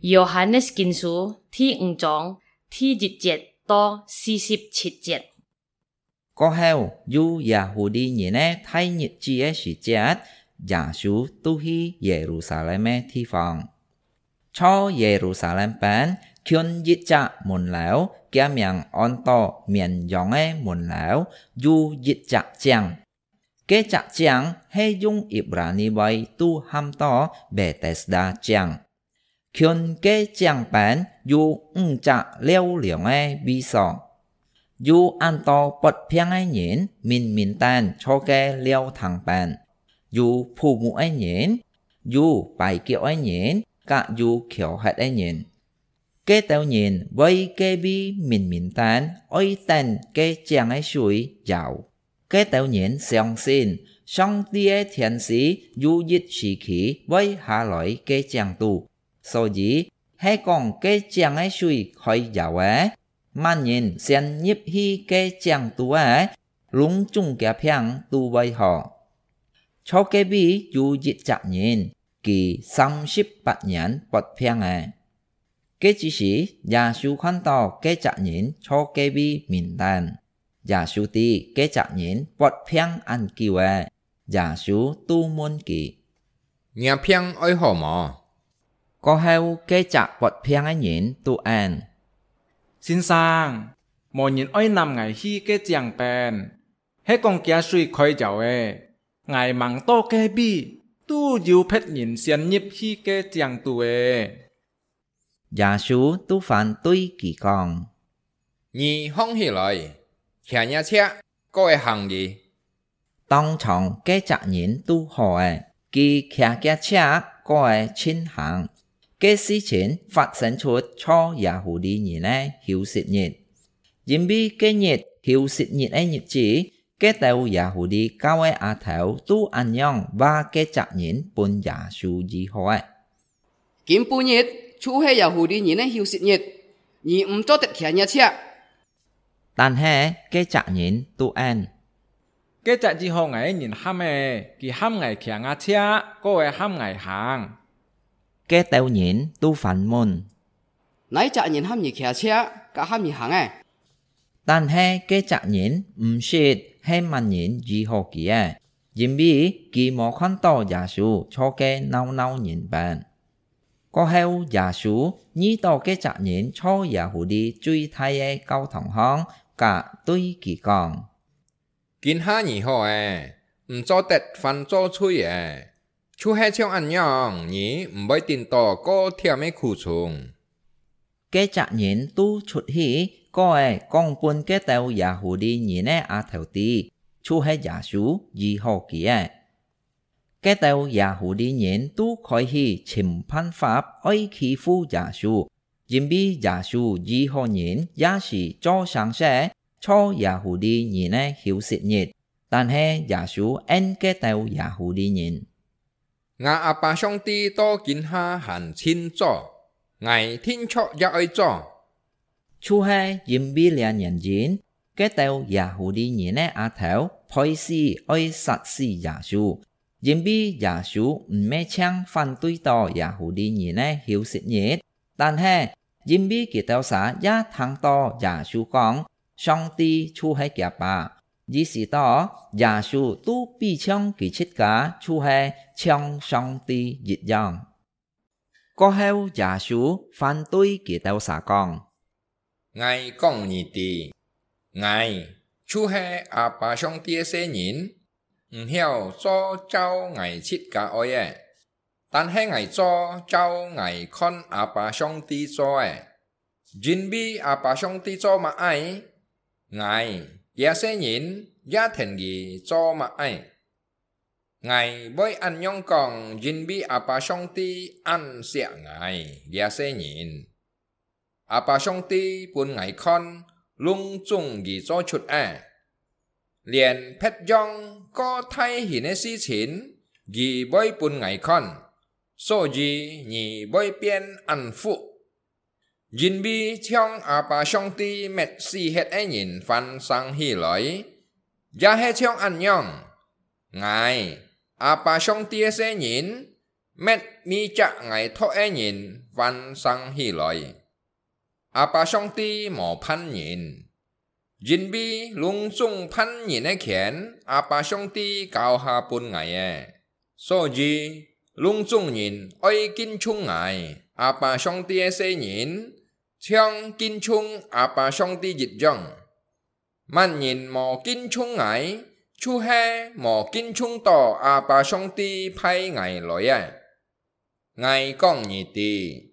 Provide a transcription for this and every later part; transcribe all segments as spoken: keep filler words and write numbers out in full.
Yohanes Kinsu第五章第一節到四十七節。過後，有耶戶利人个大日子个時節，耶穌就去耶路撒冷个地方。在耶路撒冷邊，近一隻門樓，厥名安到綿羊个門樓，有一隻井。 該隻井係用Ibrani話都喊到Betesda井。近該井邊有五隻尞涼个位所，有恁多發病个人明明等在該尞堂邊，有瞨目个人，有跛腳个人，甲有翹核个人。 該兜人會該位明明等，愛等該井个水搖。該兜人相信，上帝个天使有一時期會下來該井肚，所以係講該井个水開搖个，麼人先入去該井肚个，攏總厥病都會好。在該位有一隻人，佢三十八年發病个。 該之時，耶穌看到該隻人在該位明等，耶穌知該隻人發病恁久了，耶穌就問佢：「若病愛好無？」過後，該隻發病个人就應：「先生，無人愛揇𠊎去該井邊，係講厥水開搖了，𠊎吂到該位，就有別人先入去該井肚了。」 耶穌就反對佢講：「你䟘起來，擎若車，過仔行哩。」當場該隻人就好了，佢擎厥車，過仔盡行。該事情發生出在耶戶利人个休息日，因為該日休息日个日子，該兜耶戶利教个阿頭就恁樣話該隻人分耶穌醫好了。 「今晡日就係耶戶利人个休息日，你毋做得擎若車。」但係該隻人就應：「該隻醫好𠊎个人喊个，佢喊𠊎擎吾車，過仔喊𠊎行。」該兜人就反問：「哪一隻人喊你擎車，甲喊你行个？」 但係該隻人毋識係麼人醫好佢个，因為佢無看到耶穌在該鬧鬧人邊。過後耶穌遇到該隻人在耶戶利最大个教堂項，甲對佢講：「今下你好了，毋做得犯做罪了，就係像恁樣，你毋會頂到過忝个苦衷。」 該隻人就出去，過仔講分該兜耶戶利人个阿頭知，就係耶穌醫好佢个。該兜耶戶利人就開始尋辦法愛欺負耶穌，因為耶穌醫好人也係做生事，在耶戶利人个休息日，但係耶穌應該兜耶戶利人： 吾阿爸上帝到今下還盡早，𠊎定著也愛早。就係因為這原因，該兜耶戶利人个阿頭背時愛殺死耶穌，因為耶穌毋係淨反對到耶戶利人个休息日，但係因為佢兜儕也聽到耶穌講， 上帝就係厥爸，意思到耶穌都比像佢自家就係像上帝一樣。過後耶穌反對佢兜儕講：「𠊎講你知，𠊎就係阿爸上帝个細人，毋曉做照𠊎自家愛个， 但係𠊎做照𠊎看阿爸上帝做个。因為阿爸上帝做麼个，𠊎這細人也跈佢做麼个。𠊎會恁樣講，因為阿爸上帝恁惜𠊎這細人。 阿爸上帝分𠊎看，攏總佢做出个，連別樣過大型个事情，佢會分𠊎看，所以你會變恁福。因為像阿爸上帝滅死忒个人還生起來，也係像恁樣，𠊎，阿爸上帝个細人，滅每隻𠊎擇个人翻生起來。阿爸上帝無叛人，因為攏總叛人个權，阿爸上帝交下分𠊎个。所以，攏總人愛敬重𠊎，阿爸上帝个細人，像敬重阿爸上帝一樣。 麼人無敬重𠊎，就係無敬重到阿爸上帝派𠊎來个。𠊎講你知，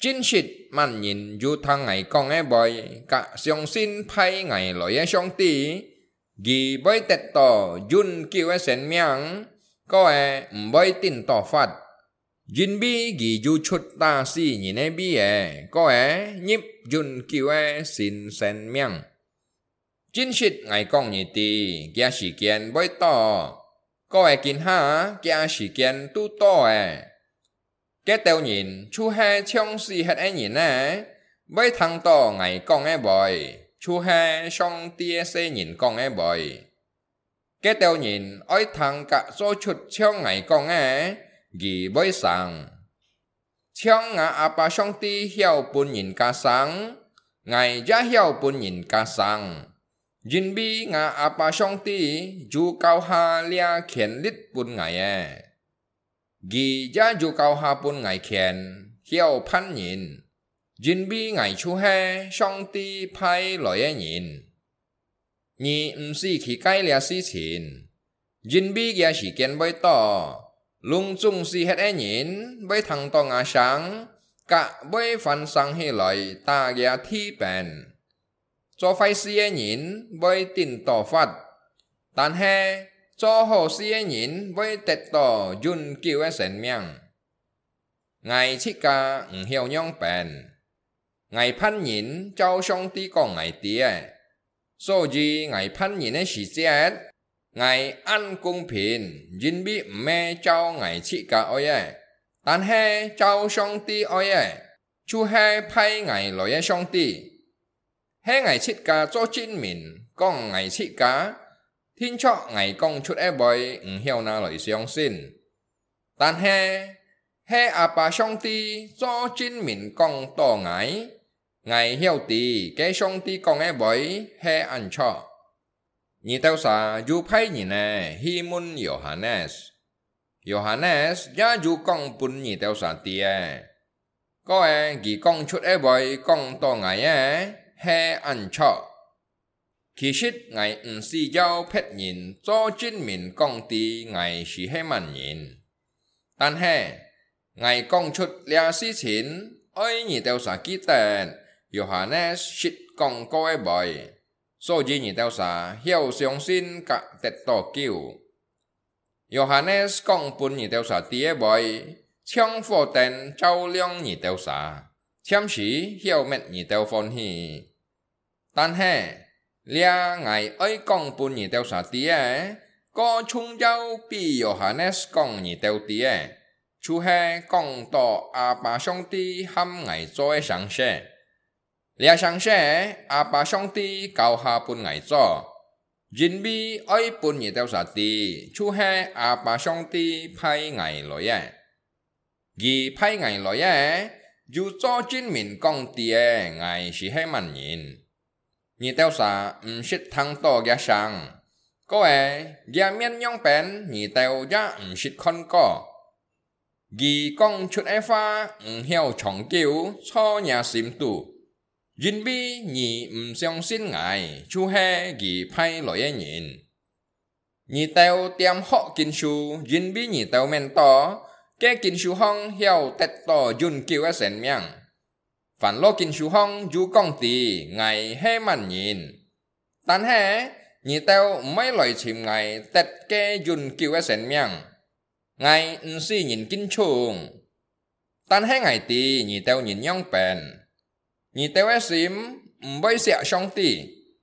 真實麼人有聽𠊎講个話，佮相信派𠊎來个上帝，佢會得到永久个生命，過个毋會頂到發。 因為佢有出打死人个位仔，過个入永久个新生命。真實𠊎講你知，厥時間會到，過个今下厥時間都到了。該兜人就係像死忒个人仔，會聽到𠊎講个話，就係上帝个細人講个話。 該兜人愛聽佮做出像𠊎講个，佢會生。像吾阿爸上帝曉分人家生，𠊎也曉分人家生，因為吾阿爸上帝有交下這權力分𠊎个。 佢也有交下分𠊎權，曉判人，因為𠊎就係上帝派來个人。你毋使去介這事情，因為厥時間會到，攏總死忒个人會聽到吾聲，佮會翻生起來打厥地板。 做壞事个人會頂到罰，但係做好事个人會得到永久个生命。𠊎自家毋曉仰般，𠊎判人照上帝講𠊎知个，所以𠊎判人个時節，𠊎恁公平，因為毋係照𠊎自家愛个，但係照上帝愛个，就係派𠊎來个上帝。 係𠊎自家做證明，講𠊎自家，定著𠊎講出个話毋曉拿來相信。但係，係阿爸上帝做證明講到𠊎，𠊎曉知該上帝講个話係恁著。你兜儕有派人仔去問Yohanes，Yohanes也有講分你兜儕知个。 過个佢講出个話講到𠊎个係恁著。其實𠊎毋使要別人做證明講知𠊎斯係麼人，但係，𠊎講出這事情，愛你兜儕記得Yohanes識講過个話，所以你兜儕曉相信佮得到救。 Yohanes講分你兜儕知个話，像火燈照亮你兜儕，暫時曉搣你兜歡喜。但係，這𠊎愛講分你兜儕知个，過重要比Yohanes講你兜知个，就係講到阿爸上帝喊𠊎做个聲勢。 這聲勢，阿爸上帝交下分𠊎做，因為愛分你兜儕知，就係阿爸上帝派𠊎來个。佢派𠊎來个，有做證明講知个𠊎斯係麼人。你兜儕毋識聽到厥聲，過个厥面仰般，你兜也毋識看過。 佢講出个話毋曉長久坐若心肚，因為你毋相信𠊎就係佢派來个人。你兜恬學經書，因為你兜愐到，該經書項曉得到永久个生命。 凡落經書項有講知𠊎係麼人，但係你兜毋愛來尋𠊎得該永久个生命。𠊎毋使人敬重，但係𠊎知你兜人仰般，你兜个心毋會惜上帝。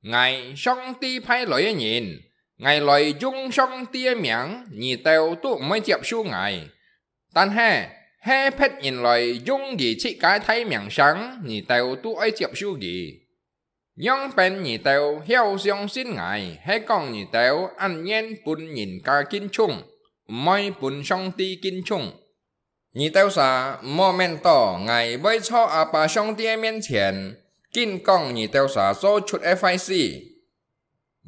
𠊎，上帝派來个人，𠊎來用上帝个名，你兜都毋會接受𠊎。但係，係別人來用佢自家个大名聲，你兜都愛接受佢。仰般你兜曉相信𠊎，係講你兜恁願分人家敬重，毋會分上帝敬重。你兜儕毋好愐到，𠊎會在阿爸上帝个面前，緊講你兜儕做出个壞事。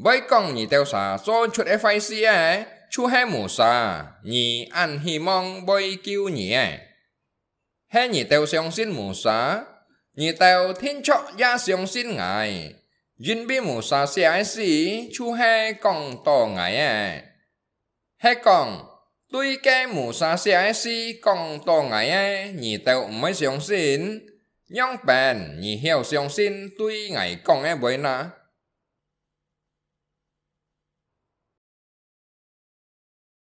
會講你兜儕做出个壞事个，就係Musa，你恁希望會救你个。係你兜相信Musa，你兜定著也相信𠊎，因為Musa寫个事就係講到𠊎个。 係講，對該Musa寫个事講到𠊎个，你兜毋會相信，仰般你曉相信對𠊎講个話哪？